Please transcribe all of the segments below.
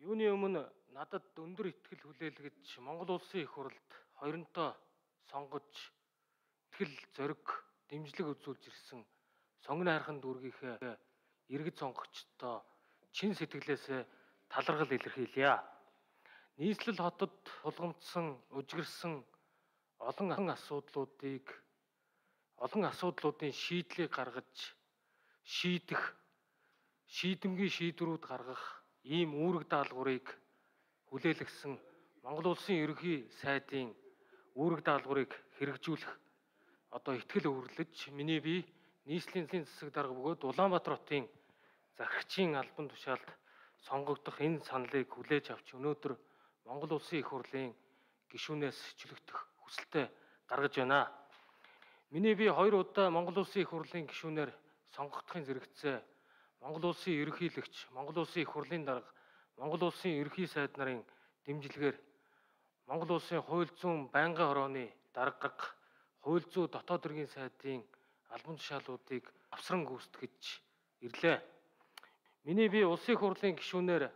Юуны өмнө надад өндөр ихтгэл хүлээлгэж Монгол улсын их хурлд хоёрынтоо сонгож ихтгэл зориг дэмжлэг үзүүлж ирсэн сонгоны хайрхан дүүргийнхээ иргэд сонгогчдоо чин сэтгэлээсээ талархал илэрхийлье. Нийслэл хотод тулгамдсан, үжигэрсэн олон асуудлуудын шийдлийг гаргаж шийдэмгий шийдвэрүүд гаргах ийм үүрэг даалгаврыг хүлээлгэсэн Монгол улсын ерөнхий сайдын үүрэг даалгаврыг хэрэгжүүлэх ихтгэл өвөрлөж миний бие нийслэлийн засаг дарга бөгөөд Улаанбаатар хотын захирагчийн албан тушаалд сонгогдох энэ саналыг хүлээж авч өнөөдөр Монгол улсын их хурлын гишүүнээс чөлөөлөх хүсэлтэд гаргаж байна. Миний бие 2 удаа Монгол улсын их хурлын гишүүнээр сонгогдохын зэрэгцээ Монгол улсын ерөнхийлөгч, Монгол улсын их хурлын дарга, Монгол улсын ерөнхий сайд нарын дэмжлэгээр Монгол улсын хууль зүйн байнгын хорооны дарга, хууль зүйн дотоод хэргийн сайдын албан тушаалуудыг авсран гүйцэтгэж ирлээ. Миний бие улсын их хурлын гишүүнээр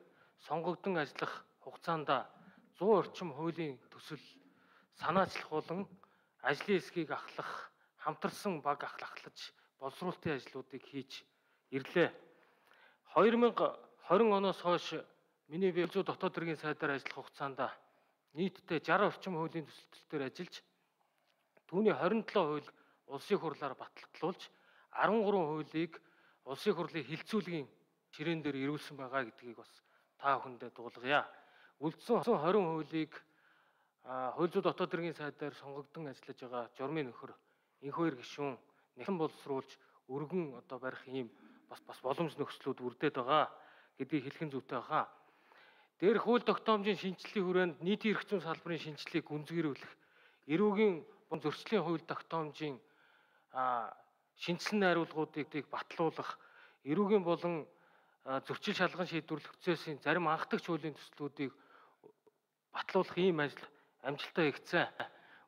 сонгогдсон ажиллах хугацаанд 100 орчим хуулийн төсөл санаачлах болон ажлын эсхийг ахлах, хамтарсан баг ахлаж боловсруулалтын ажлуудыг хийж ирлээ. 2020 оноос хойш миний бие зүү дотоод хэргийн сайдаар ажиллах хугацаанд нийтдээ 60 орчим хуулийн төсөлтөөр ажиллаж түүний 27 хууль улсын хурлаар батлагдуулж 13 хуулийг улсын хурлын хилцүүлгийн ширээн дээр ирүүлсэн байгаа гэдгийг бас та бүхэндээ дуулгая. Үлдсэн 20 хуулийг хууль зүйн дотоод хэргийн сайдаар сонгогдсон ажиллаж байгаа журмын нөхөр энх хоёр гишүүн нэхэн боловсруулж өргөн барих ийм бас боломж нөхцлүүд үрдээд байгаа гэдгийг хэлхэн зүйтэй байгаа. Дээрх хууль тогтоомжийн шинжилгээний хүрээнд нийтийн эрх зүйн салбарын шинжилгээг гүнзгийрүүлэх, эрүүгийн зөрчлийн хууль тогтоомжийн шинжилсэн найруулгуудыг батлуулах, эрүүгийн болон зөрчил шалган шийдвэрлэх процессын зарим анхдагч хуулийн төслүүдийг батлуулах ийм ажил амжилттай хийгдсэн.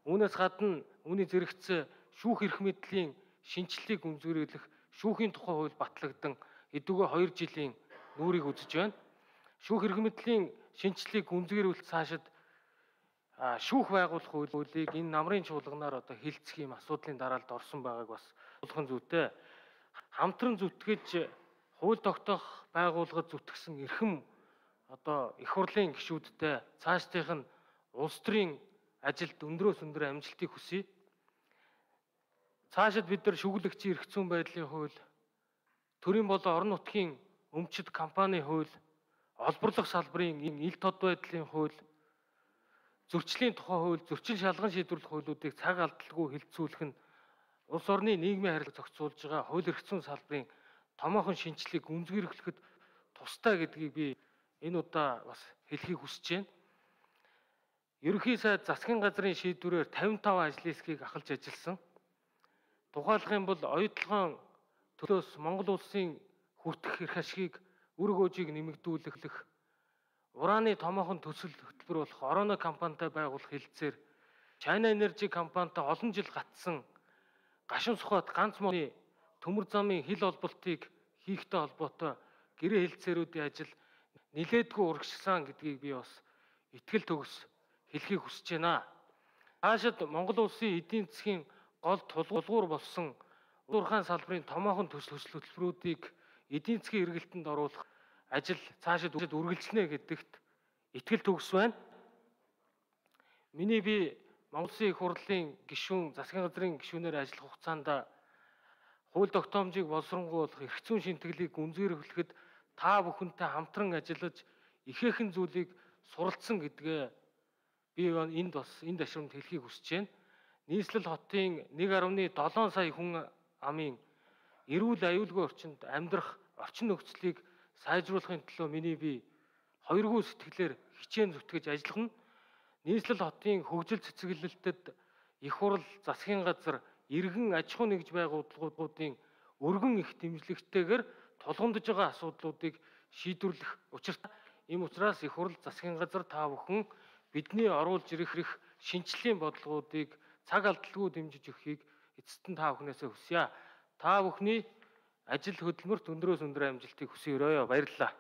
Үүнээс гадна үүний зэрэгцээ шүүх эрх мэдлийн шинжилгээг гүнзгийрүүлэх шүүхийн тухай хууль батлагдсан эдүгээ 2 жилийн нүрийг үзэж байна. Шүүх эрх мэдлийн шинжилгээг гүнзгийрүүлэлт цаашид шүүх байгуулах хуулийг энэ намрын чуулганаар хилцэх юм асуудлын дараалд орсон байгааг бас болгон зүйтэй. Хамтран зүтгэж хууль тогтоох байгууллагад зүтгэсэн эрхэм их хурлын гишүүдтэй цаашдынх нь улс төрийн ажилд өндрөөс өндөр амжилтыг хүсье. Цаашид бид нар шүүгүүлэгчийн эрх зүйн байдлын хууль, төрийн болон орон нутгийн өмчит компани хууль, олборлох салбарын ил тод байдлын хууль, зөрчлийн тухай хууль, зөрчил шалган шийдвэрлэх хуулиудыг цаг алдалгүй хилцүүлэх нь улс орны нийгмийн харилцааг зохицуулж байгаа хууль эрх зүйн салбарын томоохон шинжилгээг гүнзгийрүүлэхэд тустай гэдгийг би энэ удаа бас хэлхийг хүсэж байна. Ерөнхий сайд засгийн газрын шийдвэрээр 55 ажлын эсхийг ахалж ажилласан. Тухайлах юм бол оюутлогын төлөөс Монгол улсын хүртэх эрх ашгийг үр гөөжийг нэмэгдүүлэх, ураны томоохон төсөл хөтөлбөр болох Ороно компанитай байгуулах хэлэлцээр China Energy компанитай олон жил гатсан гашуун сухад ганц модны төмөр замын хил олболтыг хийхтэй холбоотой гэрээ хэлэлцээрүүдийн ажил нилээдгүй урагшсан гэдгийг би бас итгэл төгс хэлхийг хүсэж байна. Хаашид Монгол улсын эдийн засгийн гол тулгуур болсон уурхайн салбарын томоохон төсөл хөтөлбөрүүдийг эдийн засгийн эргэлтэнд оруулах ажил цаашид үргэлжлэнэ гэдэгт итгэл төгс байна. Миний бие Монгол улсын их хурлын гишүүн, засгийн газрын гишүүнээр ажиллах хугацаанд хууль тогтоомжийг боловсронгуйлах, эрх зүйн шинтгэлийг гүнзгийрүүлэхэд та бүхэнтэй хамтран ажиллаж ихээхэн зүйлийг суралцсан гэдгээ би энд ашрамд хэлхийг хүсэж байна. Нийслэл хотын 1.7 сая хүн амын эрүүл аюулгүй орчинд амьдрах орчин нөхцөлийг сайжруулахын төлөө миний бие хоёргүй сэтгэлээр хичээн зүтгэж ажиллах нь нийслэл хотын хөгжил цэцэглэлтэд их хурл, засгийн газар, иргэн аж ахуй нэгж байгууллагуудын өргөн их дэмжлэгтэйгээр тулгамдж байгаа асуудлуудыг шийдвэрлэх учиртай. Ийм учраас их хурл, засгийн газар та бүхэн бидний оруулж ирэх шинжлэлийн бодлогуудыг цаг алдалгүй дэмжиж өгөхийг эцэст нь та бүхнээсээ хүсье. Та бүхний ажил хөдөлмөрт өндрөөс өндөр амжилтыг хүсье өрөөё. Баярлалаа.